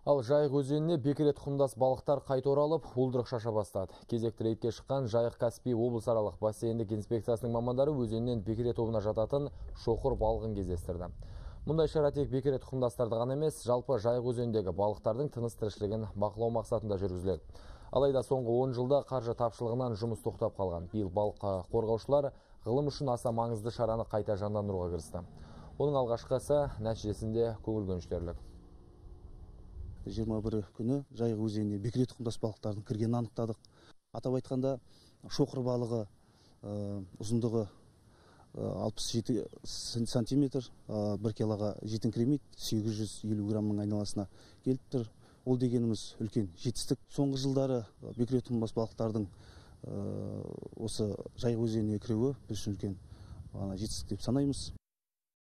Ал Жайық өзеніне бекіре тұқымдас балықтар қайта оралып, уылдырық шаша бастады. Кезекті рейдке шыққан Жайық Каспий облысаралық бассейндік инспекциясының мамандары өзеннен бекіре тобына жататын шоқыр балығын кездестірді. Мұндай шара тек бекіре тұқымдастарды ғана емес, жалпы Жайық өзеніндегі балықтардың тыныс тіршілігін бақылау мақсатында жүргізіледі. Алайда соңғы 10 жылда қаржы тапшылығынан жұмыс тоқтап қалған. Биыл балық қорғаушылар ғылым үшін аса маңызды шараны қайта жандандыруға кірісті. Оның алғашқысы нәтижесінде көңіл көншітерлік. 21 күні Жайық өзеніне бекіре тұқымдас балықтардың кіргенін анықтадық. Атап айтқанда шоқыр балығы ұзындығы 67 сантиметр, 1 килоға жетіңкіремейді, 850 граммның айналасына келіп тұр. Ол дегеніміз үлкен жетістік. Соңғы жылдары бекіре тұқымдас балықтардың осы Жайық өзеніне кіруі біз үшін үлкен жетістік деп санаймыз.